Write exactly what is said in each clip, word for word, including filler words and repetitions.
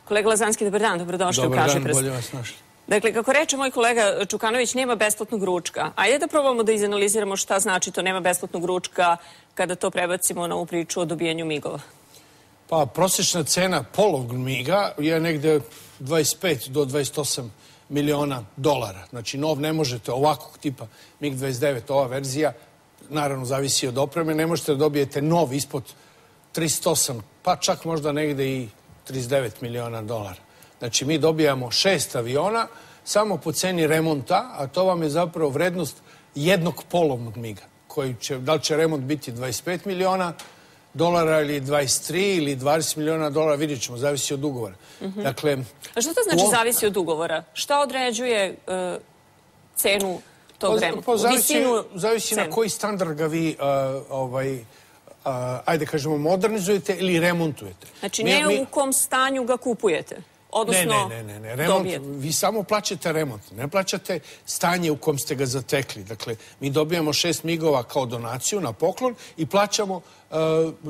Kolega Lazanski, dobar dan, dobrodošli u Kažeprst. Dobar dan, bolje vas našli. Dakle, kako reče moj kolega Čukanović, nema besplatnog ručka. Ajde da probamo da izanaliziramo šta znači to nema besplatnog ručka kada to prebacimo na ovu priču o dobijanju migova. Pa, prosječna cena polovog miga je negde dvadeset pet do dvadeset osam miliona dolara. Znači, nov ne možete ovakvog tipa mig dvadeset devet, ova verzija, naravno zavisi od opreme, ne možete da dobijete nov ispod tristo osam, pa čak možda negde i trideset devet miliona dolara. Znači, mi dobijamo šest aviona samo po ceni remonta, a to vam je zapravo vrednost jednog polovnog miga, koji će, da li će remont biti dvadeset pet miliona dolara ili dvadeset tri ili dvadeset miliona dolara, vidjet ćemo, zavisi od ugovora. Mm-hmm. Dakle, a što to znači o... zavisi od ugovora? Šta određuje uh, cenu tog pa, remonta? Pa zavisi, zavisi na koji standard ga vi uh, ovaj, uh, ajde kažemo, modernizujete ili remontujete. Znači, mi, ne mi... u kom stanju ga kupujete? Odnosno, ne, ne, ne, ne, remont, dobijete. Vi samo plaćate remont, ne plaćate stanje u kom ste ga zatekli. Dakle, mi dobijamo šest migova kao donaciju na poklon i plaćamo uh,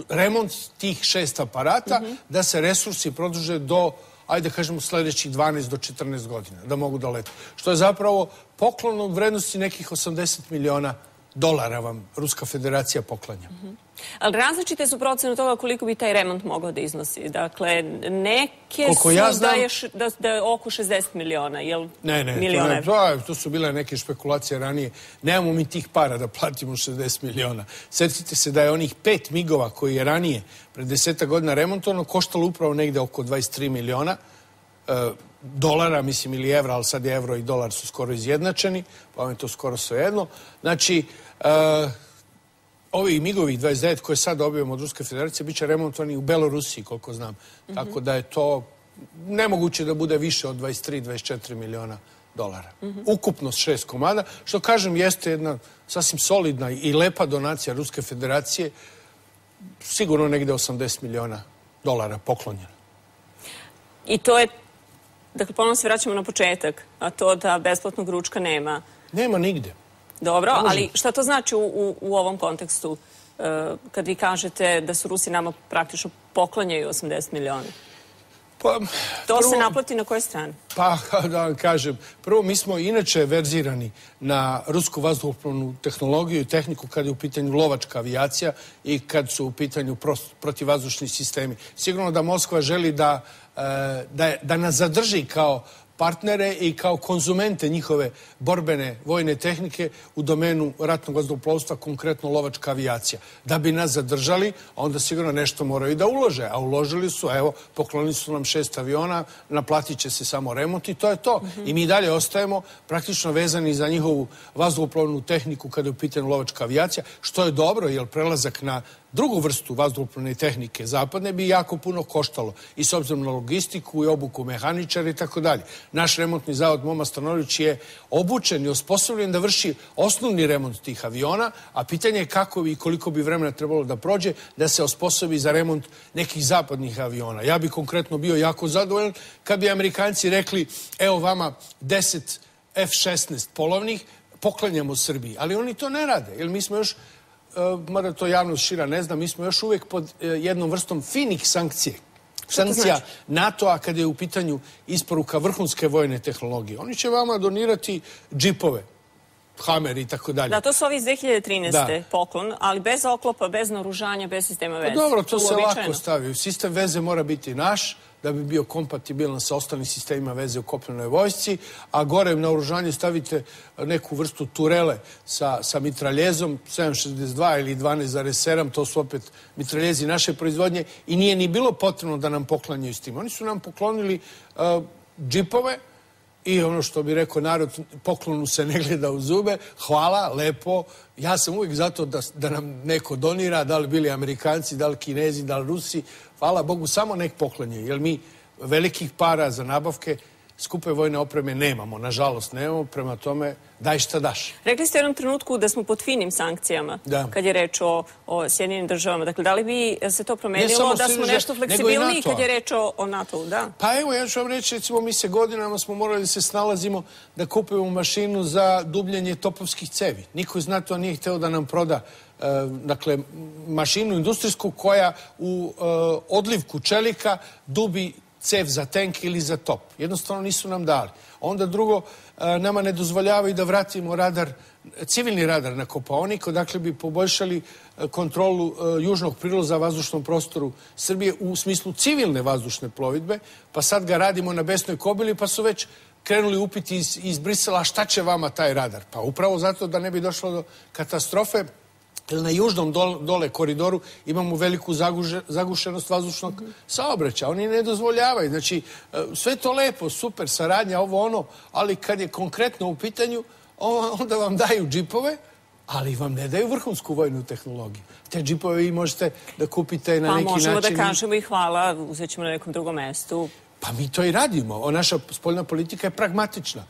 remont tih šest aparata mm-hmm. da se resursi produže do, ajde kažemo, sljedećih dvanaest do četrnaest godina, da mogu da lete. Što je zapravo poklon od vrednosti nekih osamdeset miliona dolara vam Ruska federacija poklanja. Mm-hmm. Ali različite su procene toga koliko bi taj remont mogao da iznosi. Dakle, neke koliko su ja znam, da, je š, da, da je oko šezdeset miliona, jel? Ne, ne, miliona to, ne to, to su bile neke špekulacije ranije. Nemamo mi tih para da platimo šezdeset miliona. Sjetite se da je onih pet migova koji je ranije, pred desetak godina remontovano, koštalo upravo negde oko dvadeset tri miliona e, dolara, mislim, ili evra, ali sad je evro i dolar su skoro izjednačeni, pa vam je to skoro svejedno. Znači, e, ovi migovi dvadeset devet koje sad dobijemo od Ruske federacije bit će remontovani u Belorusiji, koliko znam. Mm-hmm. Tako da je to nemoguće da bude više od dvadeset tri do dvadeset četiri miliona dolara. Mm-hmm. Ukupno šest komada, što kažem jeste jedna sasvim solidna i lepa donacija Ruske federacije, sigurno negde osamdeset miliona dolara poklonjena. I to je, dakle, ponovno se vraćamo na početak, a to da besplatnog ručka nema. Nema nigde. Dobro, ali šta to znači u, u, u ovom kontekstu uh, kad vi kažete da su Rusi nama praktično poklanjaju osamdeset miliona? Pa, to prvo, se naplati na kojoj strani? Pa, da vam kažem, prvo mi smo inače verzirani na rusku vazduhoplovnu tehnologiju i tehniku kad je u pitanju lovačka avijacija i kad su u pitanju protivvazdušni sistemi. Sigurno da Moskva želi da, da, da nas zadrži kao partnere i kao konzumente njihove borbene vojne tehnike u domenu ratnog vazduhoplovstva, konkretno lovačka avijacija. Da bi nas zadržali, onda sigurno nešto moraju da ulože. A uložili su, evo, poklonili su nam šest aviona, naplatit će se samo remont i to je to. Mm-hmm. I mi dalje ostajemo praktično vezani za njihovu vazduhoplovnu tehniku kada je u pitanju lovačka avijacija, što je dobro, jer prelazak na drugu vrstu vazduhoplovne tehnike zapadne bi jako puno koštalo i s obzirom na logistiku i obuku mehaničara i tako dalje. Naš remontni zavod Moma Stanović je obučen i osposobljen da vrši osnovni remont tih aviona, a pitanje je kako bi i koliko bi vremena trebalo da prođe da se osposobi za remont nekih zapadnih aviona. Ja bi konkretno bio jako zadovoljan kad bi Amerikanci rekli, evo vama deset F šesnaest polovnih, poklanjamo Srbiji. Ali oni to ne rade, jer mi smo još, mada to javnost šira ne zna, mi smo još uvijek pod jednom vrstom finih sankcije. Sankcija NATO-a kada je u pitanju isporuka vrhunske vojne tehnologije. Oni će vama donirati džipove, Hammer i tako dalje. Da, to su ovi iz dve hiljade trinaeste poklon, ali bez oklopa, bez naoružanja, bez sistema veze. Pa dobro, to se lako stavi. Sistem veze mora biti naš, da bi bio kompatibilan sa ostalim sistemima veze u kopnenoj vojsci, a gore na naoružanje stavite neku vrstu turele sa, sa mitraljezom sedam šezdeset dva ili dvanaest zarez sedam, to su opet mitraljezi naše proizvodnje i nije ni bilo potrebno da nam poklanjaju s tim. Oni su nam poklonili uh, džipove i ono što bi rekao narod, poklonu se ne gleda u zube. Hvala, lepo. Ja sam uvijek zato da, da nam neko donira, da li bili Amerikanci, da li Kinezi, da li Rusi. Hvala Bogu, samo nek poklanje, jer mi velikih para za nabavke skupe vojne opreme nemamo, nažalost nemamo, prema tome daj šta daš. Rekli ste u jednom trenutku da smo pod finim sankcijama, da. Kad je reč o, o Sjedinjenim državama. Dakle, da li bi se to promenilo da smo nešto fleksibilniji kad je reč o, o NATO-u? Da. Pa evo, ja ću vam reći, recimo, mi se godinama smo morali da se snalazimo da kupimo mašinu za dubljenje topovskih cevi. Niko iz NATO-a nije hteo da nam proda uh, dakle, mašinu industrijsku koja u uh, odlivku čelika dubi cev za tank ili za top. Jednostavno nisu nam dali. Onda drugo, nama ne dozvoljavaju da vratimo radar, civilni radar na Kopaonik, odakle bi poboljšali kontrolu južnog prilaza vazdušnom prostoru Srbije u smislu civilne vazdušne plovidbe, pa sad ga radimo na Besnoj Kobili, pa su već krenuli upiti iz, iz Brisela, šta će vama taj radar? Pa upravo zato da ne bi došlo do katastrofe, jer na južnom dole, dole koridoru imamo veliku zaguže, zagušenost vazdušnog saobraćaja. Oni ne dozvoljavaju. Znači, sve to lepo, super, saradnja, ovo ono, ali kad je konkretno u pitanju, onda vam daju džipove, ali vam ne daju vrhunsku vojnu tehnologiju. Te džipove vi možete da kupite na neki način. Pa možemo da kažemo i hvala, uzet ćemo na nekom drugom mestu. Pa mi to i radimo. Naša spoljna politika je pragmatična.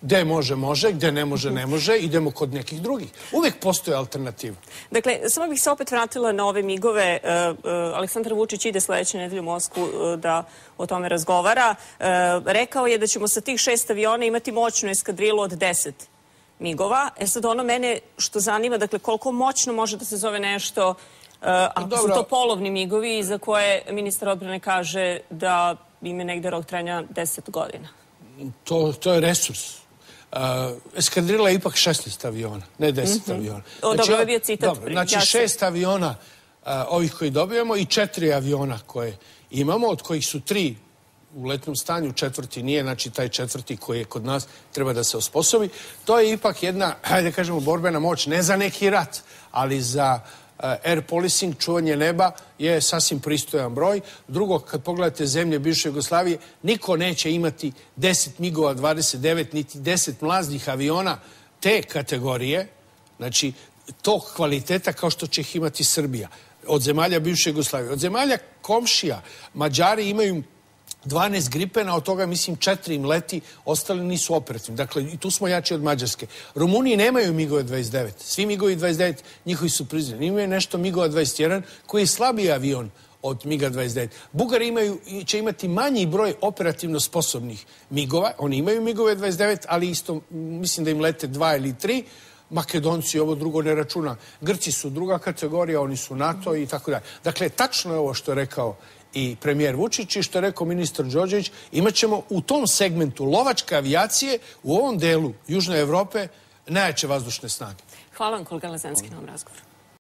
Gde može, može, gde ne može, ne može, idemo kod nekih drugih. Uvijek postoje alternativa. Dakle, samo bih se opet vratila na ove migove. Aleksandar Vučić ide sledeće nedelje u Moskvu da o tome razgovara. Rekao je da ćemo sa tih šest aviona imati moćnu eskadrilu od deset migova. E sad ono mene što zanima, dakle, koliko moćno može da se zove nešto, ako su to polovni migovi za koje ministar odbrane kaže da im je negde rok trajanja deset godina. To, to je resurs. Uh, eskadrila je ipak šesnaest aviona, ne deset mm-hmm. aviona. Znači, dobro, ovo je bio citat. Dobro, znači šest aviona uh, ovih koji dobijamo i četiri aviona koje imamo, od kojih su tri u letnom stanju, četvrti nije, znači taj četvrti koji je kod nas treba da se osposobi. To je ipak jedna, hajde kažemo, borbena moć, ne za neki rat, ali za air policing, čuvanje neba, je sasvim pristojan broj. Drugo, kad pogledate zemlje bivše Jugoslavije, niko neće imati deset migova dvadeset devet, niti deset mlaznih aviona te kategorije, znači tog kvaliteta kao što će ih imati Srbija. Od zemalja bivše Jugoslavije. Od zemalja komšija, Mađari imaju dvanaest Gripena, od toga, mislim, četiri im leti, ostali nisu operativni. Dakle, i tu smo jači od Mađarske. Rumuniji nemaju migove dvadeset devet. Svi migovi dvadeset devet, njihovi su priznani. Imaju nešto migova dvadeset jedan, koji je slabiji avion od miga dvadeset devet. Bugari imaju, će imati manji broj operativno sposobnih migova. Oni imaju migove dvadeset devet, ali isto, mislim da im lete dva ili tri. Makedonci ovo drugo ne računa. Grci su druga kategorija, oni su NATO i tako dalje. Dakle, tačno je ovo što je rekao i premijer Vučić i što je rekao ministar Đorđević, imat ćemo u tom segmentu lovačke avijacije u ovom delu Južne Evrope najjače vazdušne snage. Hvala vam, kolega Lazanski, na ovom razgovoru.